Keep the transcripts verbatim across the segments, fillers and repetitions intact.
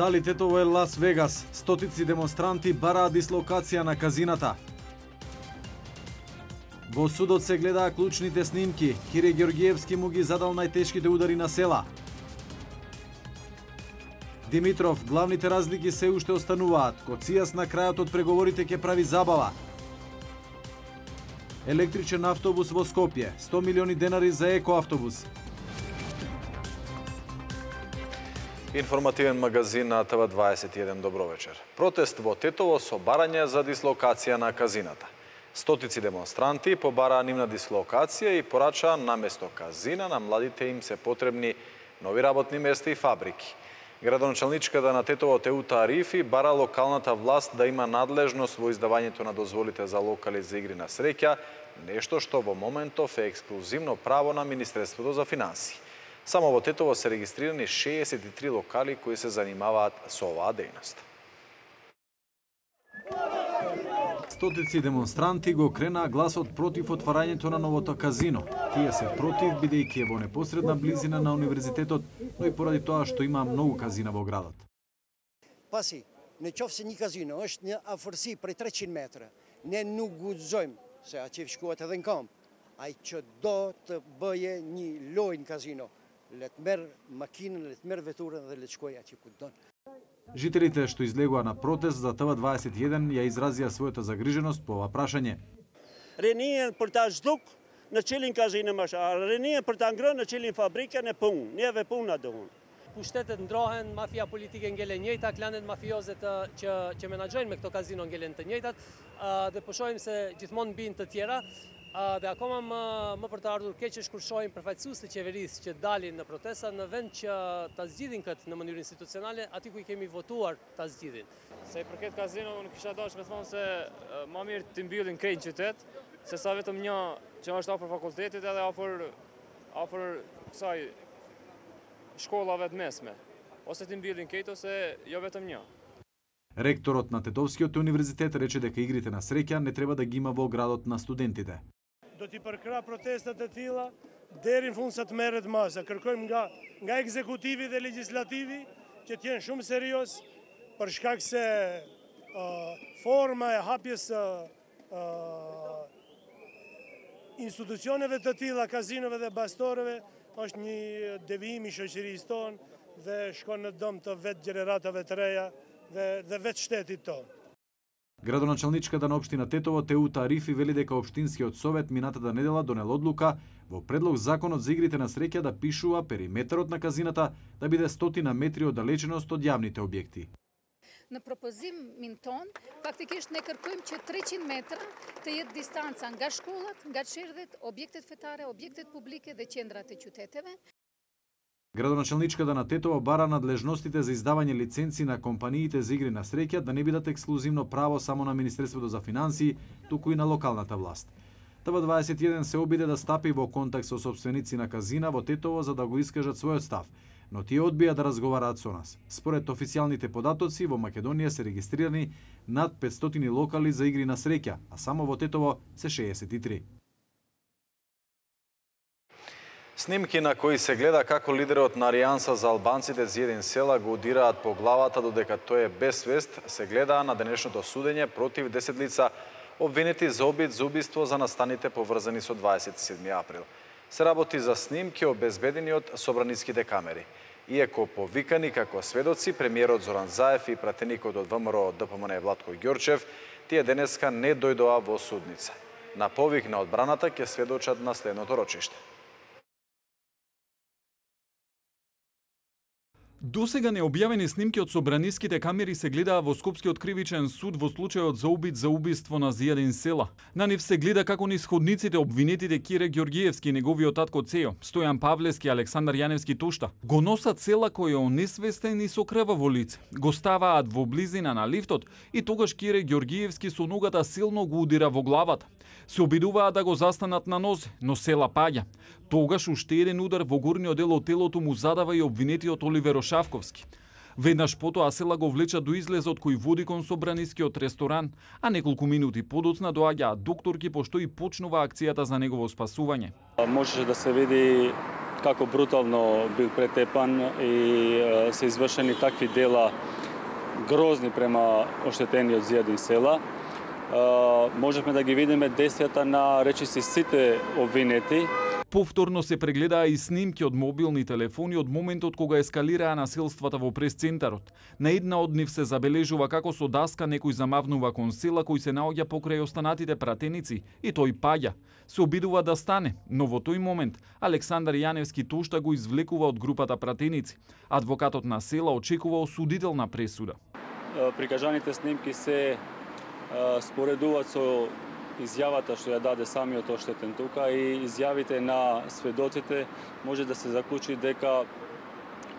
Дали Тетово е Лас Вегас? Стотици демонстранти бараат дислокација на казината. Во судот се гледаа клучните снимки. Кире Георгиевски му ги задал најтешките удари на села. Димитров, главните разлики се уште остануваат. Коцијас на крајот од преговорите ќе прави забава. Електричен автобус во Скопје. сто милиони денари за екоавтобус. Информативен магазин на Т В дваесет и еден, добро вечер. Протест во Тетово со барање за дислокација на казината. Стотици демонстранти побараа нивна дислокација и порачаа наместо казина на младите им се потребни нови работни места и фабрики. Градоначалничката на Тетово Теута Арифи бара локалната власт да има надлежност во издавањето на дозволите за локали за игри на среќа, нешто што во моментов е ексклузивно право на Министерството за финансии. Само во Тетово се регистрирани шеесет и три локали кои се занимаваат со оваа дејност. Стотици демонстранти го кренаа гласот против отварањето на новото казино. Тие се против, бидејќи е во непосредна близина на универзитетот, но и поради тоа што има многу казина во градот. Паси, не чов се ни казино, është një afërsi prej treqind metra. Ne nuk guxojmë se aty shkohet edhe në kamp. Ai që do të bëje një lojë kazino, le të merr makinën, le të merr veturën dhe le të shkojë aty ku don. Жителите што излегоа на протест за Т В дваесет и еден ја изразија својата загриженост по ова прашање. Rënien për ta zhduk në qëllin kazinë më shah, rënien për ta ngrënë në qëllin fabrikën e punë, neve puna dohun. Pushtetet ndrohen, mafia politike ngelen njëjta, klanet mafioze të, që, që menaxhojnë me këto kazino ngelen të njëjtat, dhe po shohim se gjithmonë mbijnë të tjera, dhe akoma më, më për të ardhur keq është kur shohim përfaqësues të qeverisë që dalin në protesta në vend që ta zgjidhin këtë në mënyrë institucionale, aty ku i kemi votuar ta zgjidhin. Se i përket kazino, unë kisha dashur me thonë se më mirë të mbyllin krejt qytet, se sa vetëm një që është afër fakultetit edhe afër afër kësaj shkollave të mesme, ose të mbyllin krejt ose jo vetëm një. Ректорот на Тетовскиот универзитет рече дека игрите на среќа не треба да ги има во градот на студентите. Do t'i përkra protestat e tilla deri në fund sa të merret masa. Kërkojmë nga nga ekzekutivi dhe legislativi që të jenë shumë serioz për shkak se uh, forma e hapjes së uh, institucioneve të tilla, kazinove dhe bastoreve është një devijim i shoqërisë tonë dhe shkon në dëm të vetë gjeneratave të reja dhe, dhe vetë shtetit tonë. Градоначалничката на општина Тетово Теута Арифи вели дека општинскиот совет минатата недела донел одлука во предлог законот за игрите на среќа да пишува периметрот на казината да биде стотина метри оддалеченост од јавните објекти. Në propozimin ton, faktikisht ne kërkojmë që treqind metra të jetë distanca nga shkollat, nga çerdhet, objektet fetare, objektet publike dhe qendrat e qyteteve. Градоначалничката на Тетово бара надлежностите за издавање лиценци на компаниите за игри на среќа да не бидат ексклузивно право само на Министерството за финансии, туку и на локалната власт. Т В дваесет и еден се обиде да стапи во контакт со сопственици на казина во Тетово за да го искажат својот став, но тие одбија да разговараат со нас. Според официјалните податоци, во Македонија се регистрирани над петстотини локали за игри на среќа, а само во Тетово се шеесет и три. Снимки на кои се гледа како лидерот на Алијанса за албанците Зиедин Села го удираат по главата додека тој е без свест, се гледаа на денешното судење против десет лица обвинети за обид за убиство за настаните поврзани со дваесет и седми април. Се работи за снимки обезбедени од собраниските камери. Иако повикани како сведоци, премиерот Зоран Заев и пратеникот од ВМРО Д П М Н Владко Ѓорчев, тие денеска не дојдоа во судница. На повик на одбраната ќе сведочат на следното рочиште. Досега необјавени снимки од собраниските камери се гледаа во Скопскиот кривичен суд во случајот за обид за убиство на Зиедин Села. На нив се гледа како нисходниците обвинетите Кире Георгиевски и неговиот татко Цејо, Стојан Павлевски и Александар Јаневски Тошта, го носат Села кој е онесвестен и со крваво лице. Го ставаат во близина на лифтот и тогаш Кире Георгиевски со ногата силно го удира во главата. Се обидуваат да го застанат на нозе, но Села паѓа. Тогаш уште еден удар во горниот дел од телото му задава и обвинетиот Оливер Шавковски. Веднаш потоа Села го влеча до излезот кој води кон собранискиот ресторан, а неколку минути подоцна доаѓаат докторки пошто и почнува акцијата за негово спасување. Можеше да се види како брутално бил претепан и се извршени такви дела грозни према оштетениот Зијадин Села. Можевме да ги видиме действијата на речиси сите обвинети. Повторно се прегледаа и снимки од мобилни телефони од моментот кога ескалираа насилствата во прес-центарот. На една од нив се забележува како со даска некој замавнува кон Села кој се наоѓа покрај останатите пратеници и тој паѓа. Се обидува да стане, но во тој момент Александар Јаневски тошта го извлекува од групата пратеници. Адвокатот на Села очекува осудителна пресуда. Прикажаните снимки се споредуваат со изјавата што ја даде самиот оштетен тука и изјавите на сведоците, може да се заклучи дека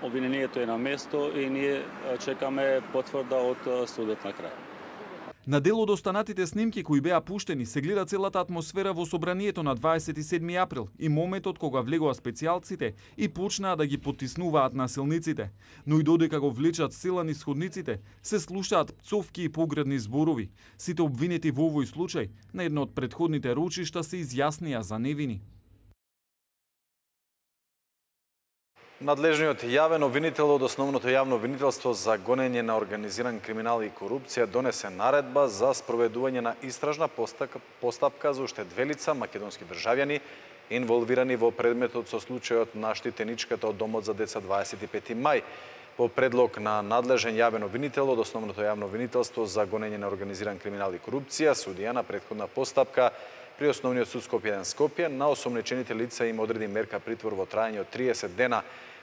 обвинението е на место и ние чекаме потврда од судот на крај. На дел од останатите снимки кои беа пуштени се гледа целата атмосфера во собранието на дваесет и седми април и моментот кога влегоа специјалците и почнаа да ги потиснуваат насилниците. Но и додека го влечат Села низ ходниците, се слушаат пцовки и погредни зборови. Сите обвинети во овој случај на едно од претходните рочишта се изјаснија за невини. Надлежниот јавен обвинител од Основното јавно обвинителство за гонење на организиран криминал и корупција донесе наредба за спроведување на истражна постапка за уште две лица македонски државјани инволвирани во предметот со случајот на штитеничката од Домот за деца дваесет и пети мај. По предлог на надлежен јавен обвинител од Основното јавно обвинителство за гонење на организиран криминал и корупција, судија на претходна постапка при Основниот суд Скопје еден Скопје на осомничените лица им одреди мерка притвор во трајање од триесет дена.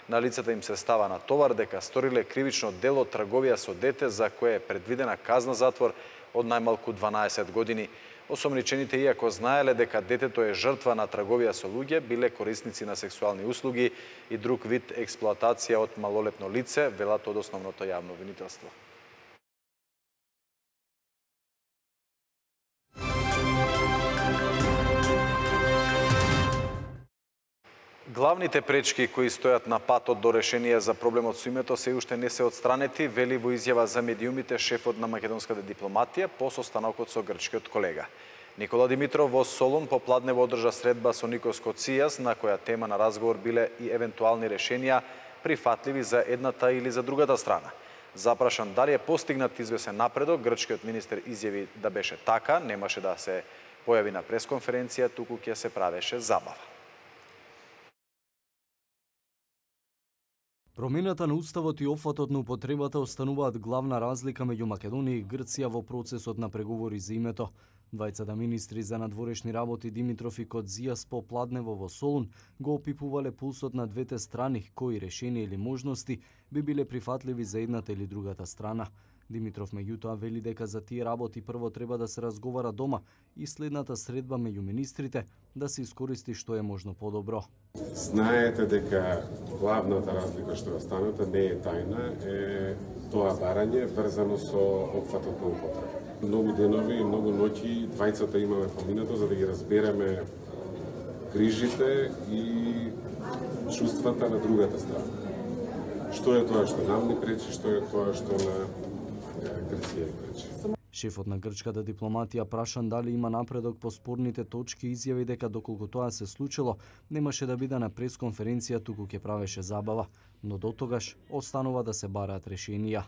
На лицата им се става на товар дека сториле кривично дело трговија со дете за кое е предвидена казна затвор од најмалку дванаесет години. Осомничените, иако знаеле дека детето е жртва на трговија со луѓе, биле корисници на сексуални услуги и друг вид експлоатација од малолетно лице, велат од Основното јавно обвинителство. Главните пречки кои стојат на патот до решение за проблемот со името се уште не се отстранети, вели во изјава за медиумите шефот на македонската дипломатија по состанокот со грчкиот колега. Никола Димитров во Солун попладнево одржа средба со Никос Коцијас, на која тема на разговор биле и евентуални решенија прифатливи за едната или за другата страна. Запрашан дали е постигнат извесен напредок, грчкиот министер изјави да беше така, немаше да се појави на пресконференција, туку ќе се правеше забава. Промената на уставот и опфатот на употребата остануваат главна разлика меѓу Македонија и Грција во процесот на преговори за името. Двајцата министри за надворешни работи Димитров и Коцијас попладнево во Солун го опипувале пулсот на двете страни, кои решенија или можности би биле прифатливи за едната или другата страна. Димитров меѓутоа вели дека за тие работи прво треба да се разговара дома и следната средба меѓу министрите да се искористи што е можно подобро. Знаете дека главната разлика што е останата не е тајна, е тоа барање врзано со опфатот на употреба. Многу денови и многу ноќи двајцата имаме поминато за да ги разбереме грижите и чувствата на другата страна. Што е тоа што нам не пречи, што е тоа што на Грција не пречи. Шефот на грчката дипломатија прашан дали има напредок по спорните точки, изјави дека доколку тоа се случило, немаше да биде на пресконференција, туку ќе правеше забава, но дотогаш останува да се бараат решенија.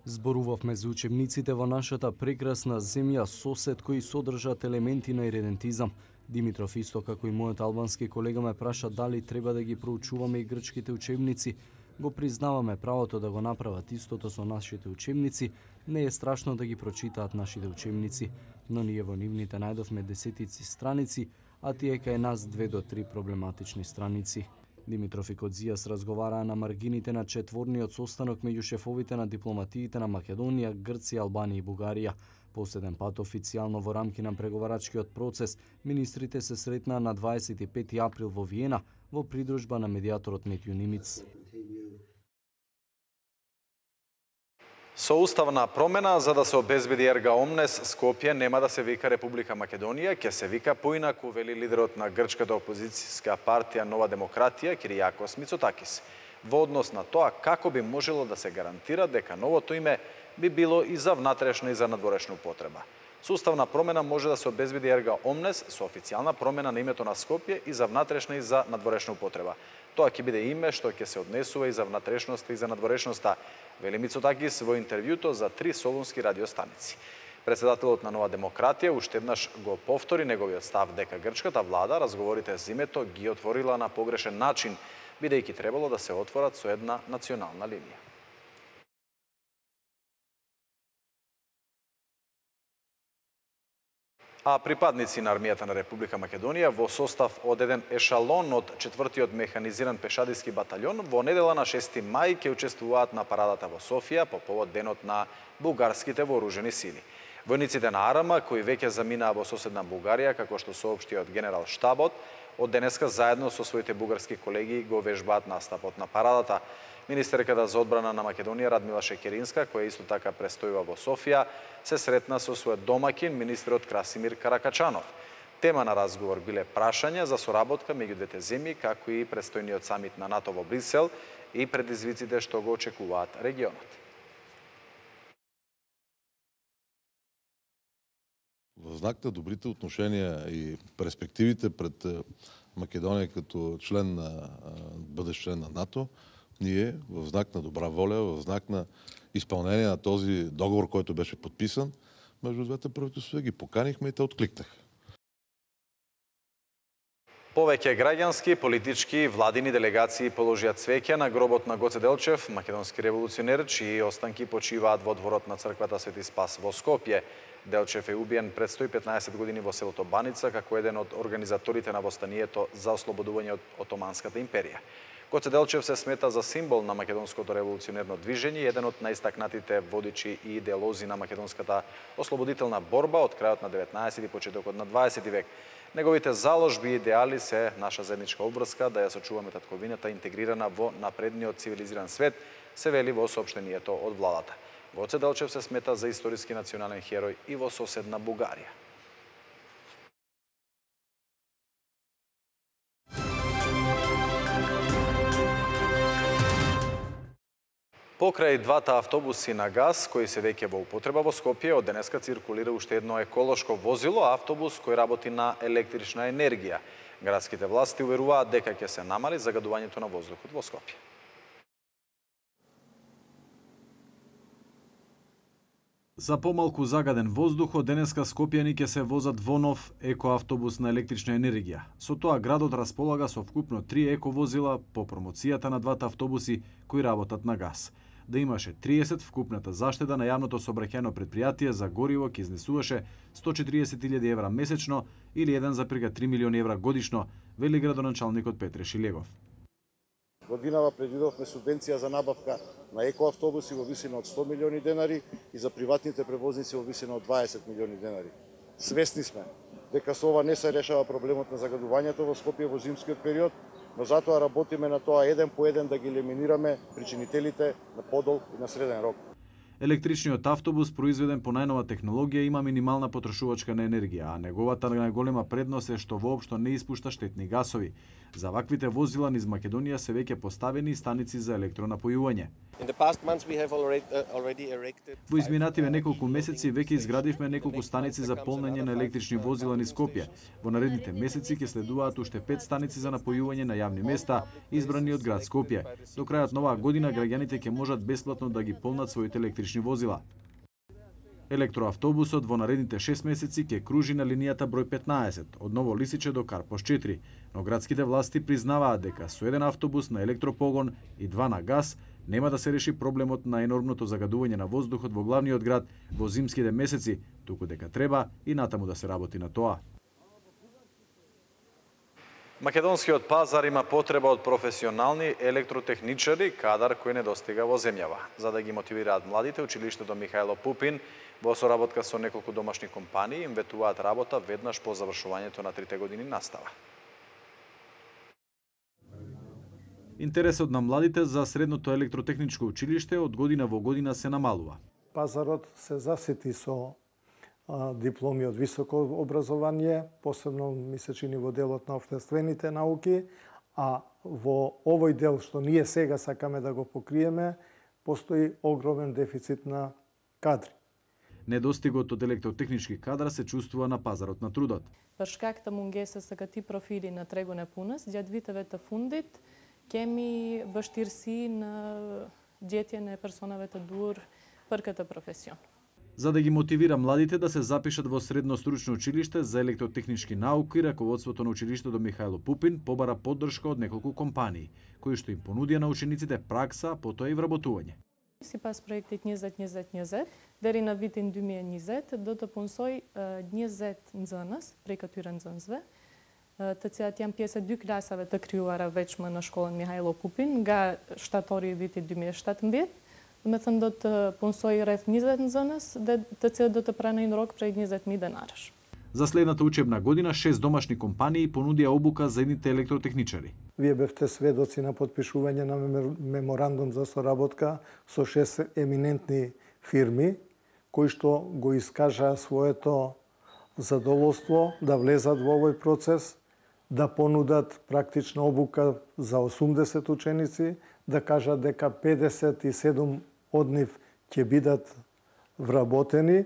Зборувавме за учебниците во нашата прекрасна земја сосед кои содржат елементи на иредентизам. Димитров исто како и мојот албански колега ме праша дали треба да ги проучуваме и грчките учебници. Го признаваме правото да го направат истото со нашите учебници, не е страшно да ги прочитаат нашите учебници, но ние во нивните најдовме десетици страници, а тие кај нас две до три проблематични страници. Димитров и Коцијас разговараа на маргините на четворниот состанок меѓу шефовите на дипломатиите на Македонија, Грција, Албанија и Бугарија. Последен пат официјално во рамки на преговарачкиот процес, министрите се сретнаа на дваесет и пети април во Виена во придружба на медијаторот Метју Нимиц. Со уставна промена, за да се обезбеди ерга омнес, Скопје нема да се вика Република Македонија, ќе се вика поинаку, вели лидерот на грчката опозицијска партија Нова демократија, Киријакос Мицотакис, во однос на тоа како би можело да се гарантира дека новото име би било и за внатрешна и за надворешна употреба. Суставна промена може да се обезбеди ерга омнес со официјална промена на името на Скопје и за внатрешна и за надворешна употреба. Тоа ќе биде име што ќе се однесува и за внатрешноста и за надворешноста, вели Мицотакис во интервјуто за три солунски радиостаници. Председателот на Нова демократија уште еднаш го повтори неговиот став дека грчката влада разговорите за името ги отворила на погрешен начин, бидејќи требало да се отворат со една национална линија. А припадници на армијата на Република Македонија во состав од еден ешалон од четвртиот механизиран пешадиски баталјон во недела на шести мај ќе учествуваат на парадата во Софија по повод денот на бугарските вооружени сили. Војниците на АРМА, кои веќе заминаа во соседна Бугарија, како што соопшти од генерал штабот, од денеска заедно со своите бугарски колеги го вежбаат настапот на парадата. Министерката за одбрана на Македонија Радмила Шекеринска, која исто така престојува во Софија, се сретна со својот домакин, министерот Красимир Каракачанов. Тема на разговор биле прашања за соработка меѓу двете земји, како и престојниот самит на НАТО во Брисел и предизвиците што го очекуваат регионот. Во знак на добрите отношенија и перспективите пред Македонија като член на бъдещ член на НАТО, ние в знак на добра воля, в знак на изпълнение на този договор, който беше подписан, между двете правителства ги поканихме и те откликнаха. Повеќе граѓански, политички и владини делегации положија цвеќе на гробот на Гоце Делчев, македонски револуционер, чии останки почиваат во дворот на црквата Свети Спас во Скопје. Делчев е убиен пред сто и петнаесет години во селото Баница како еден од организаторите на востанието за ослободување од Отоманската империја. Гоце Делчев се смета за символ на македонското револуционерно движење и еден од најстакнатите водичи и идеолози на македонската ослободителна борба од крајот на деветнаесети и почетокот на дваесети век. Неговите заложби и идеали се наша заедничка обврска да ја сочуваме татковината интегрирана во напредниот цивилизиран свет, се вели во соопштението од владата. Гоце Делчев се смета за историски национален херој и во соседна Бугарија. Покрај двата автобуси на газ, кои се веќе во употреба во Скопје, од денеска циркулира уште едно еколошко возило, автобус кој работи на електрична енергија. Градските власти уверуваат дека ќе се намали загадувањето на воздухот во Скопје. За помалку загаден воздух, од денеска скопјани ќе се возат во нов екоавтобус на електрична енергија. Со тоа градот располага со вкупно три ековозила по промоцијата на двата автобуси кои работат на газ. Да имаше триесет, вкупната заштеда на јавното сообраќајно предпријатие за гориво ќе изнесуваше сто и четириесет илјади евра месечно или еден зарез три милиони евра годишно, вели градоначалникот Петре Шилегов. Годинава предвидовме субвенција за набавка на екоавтобуси во висина од сто милиони денари и за приватните превозници во висина од дваесет милиони денари. Свесни сме дека со ова не се решава проблемот на загадувањето во Скопје во зимскиот период, но затоа работиме на тоа еден по еден да ги елиминираме причинителите на подол и на среден рок. Електричниот автобус, произведен по најнова технологија, има минимална потрошувачка на енергија, а неговата најголема предност е што воопшто не испушта штетни гасови. За ваквите возила низ Македонија се веќе поставени станици за електронапојување. Во изминативе неколку месеци веќе изградивме неколку станици за полнење на електрични возила низ Скопје. Во наредните месеци ќе следуваат уште пет станици за напојување на јавни места, избрани од град Скопје. До крајот на оваа година граѓаните ќе можат бесплатно да ги полнат своите електрични возила. Електроавтобусот во наредните шест месеци ќе кружи на линијата број петнаесет, од Ново Лисиче до Карпош четири, но градските власти признаваат дека со еден автобус на електропогон и два на газ нема да се реши проблемот на енормното загадување на воздухот во главниот град во зимските месеци, туку дека треба и натаму да се работи на тоа. Македонскиот пазар има потреба од професионални електротехничари, кадар кој недостига во земјава. За да ги мотивираат младите, училиштето Михајло Пупин во соработка со неколку домашни компании им ветуваат работа веднаш по завршувањето на трите години настава. Интересот на младите за средното електротехничко училиште од година во година се намалува. Пазарот се засити со а, дипломи од високо образование, посебно ми се чини во делот на општествените науки, а во овој дел што ние сега сакаме да го покриеме, постои огромен дефицит на кадри. Недостигот од електротехнички кадра се чувствува на пазарот на трудот. Përshkak të mungesës së këtij profili në tregun e punës, gjatë viteve të fundit kemi vështirësi në gjetjen e personave të duhur për këtë profesion. За да ги мотивира младите да се запишат во средно стручно училиште за електротехнички науки, раководството на училиштето Михајло Пупин побара поддршка од неколку компании, кои што им понудија на учениците пракса, потоа и вработување. Sipas projektit njëzet njëzet njëzet, deri në vitin dy mijë e njëzet do të punsoj njëzet nxënës prej këtyre nxënësve, të cilat janë pjesë e dy klasave të krijuara veçmë në shkollën Mihajlo Pupin nga shtatori i vitit dy mijë e shtatëmbëdhjetë. Me thënë do të punsoj rreth njëzet nxënës dhe të cilët do të pranojnë rok prej njëzet mijë denarësh. За следната учебна година шест домашни компании понудија обука за едните електротехничари. Вие бевте сведоци на подпишување на меморандум за соработка со шест еминентни фирми кои што го искажаа своето задоволство да влезат во овој процес, да понудат практична обука за осумдесет ученици, да кажат дека педесет и седум од нив ќе бидат вработени.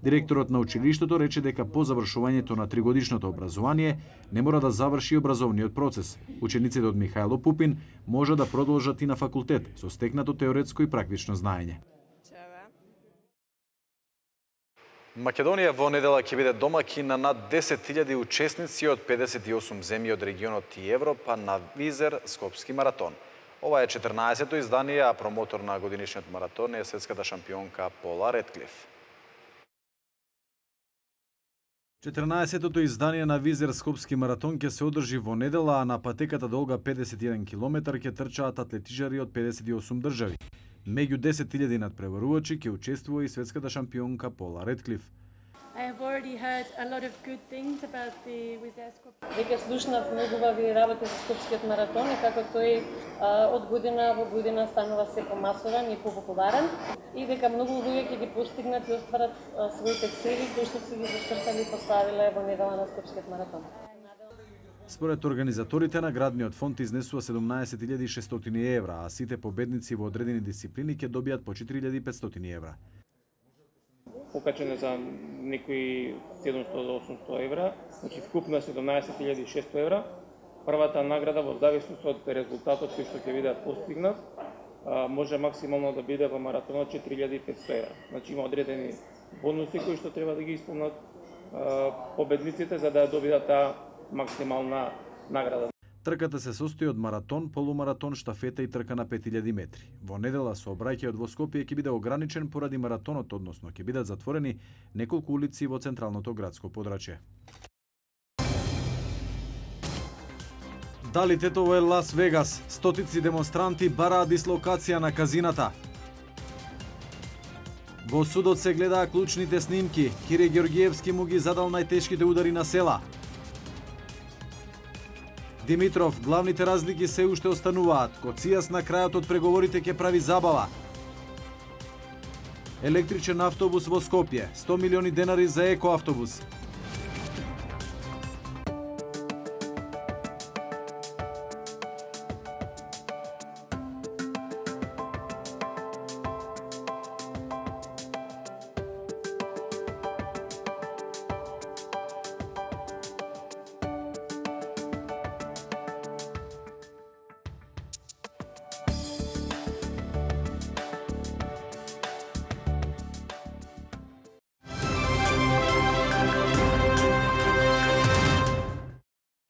Директорот на училиштето рече дека по завршувањето на тригодишното образование не мора да заврши образовниот процес. Учениците од Михајло Пупин може да продолжат и на факултет со стекнато теоретско и практично знаење. Македонија во недела ќе биде домаќин на над десет илјади учесници од педесет и осум земји од регионот и Европа на Визер Скопски маратон. Ова е четрнаесетто издание, а промотор на годинишниот маратон е светската шампионка Пола Редклиф. четрнаесеттото издание на Визер Скопски маратон ќе се одржи во недела, а на патеката долга педесет и еден километар ќе трчаат атлетичари од педесет и осум држави. Меѓу десет илјади надпреварувачи ќе учествува и светската шампионка Пола Редклиф. Веќе слушнав многу убави работи за Скопскиот маратон и како тој од година во година станува се помасован и попопуларен и дека многу луѓе ќе ги постигнат и остварат своите цели кои што си ги зачртали и поставиле во недела на Скопскиот маратон. Според организаторите, наградниот фонд изнесува седумнаесет илјади и шестстотини евра, а сите победници во одредени дисциплини ќе добијат по четири илјади и петстотини евра. Покачено за некои седумстотини до осумстотини евра, значи вкупно седумнаесет илјади и шестстотини евра. Првата награда во зависност од резултатот кој што ќе биде постигнат, може максимално да биде во маратонот четири илјади и петстотини евра. Значи има одредени бонуси кои што треба да ги исполнат победниците за да добијат таа максимална награда. Трката се состои од маратон, полумаратон, штафета и трка на пет илјади метри. Во недела сообраќајот во Скопје ќе биде ограничен поради маратонот, односно ќе бидат затворени неколку улици во централното градско подрачје. Дали Тетово е Лас Вегас? Стотици демонстранти бараат дислокација на казината. Во судот се гледаа клучните снимки. Кире Ѓорѓиевски му ги задал најтешките удари на села. Димитров, главните разлики се уште остануваат. Коцијас на крајот од преговорите ќе прави забава. Електричен автобус во Скопје, сто милиони денари за екоавтобус.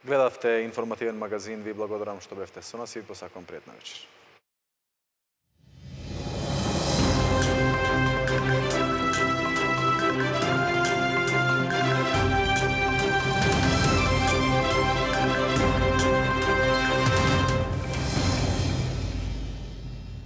Гледавте информативен магазин, ви благодарам што бевте со нас и посакувам пријатна вечер.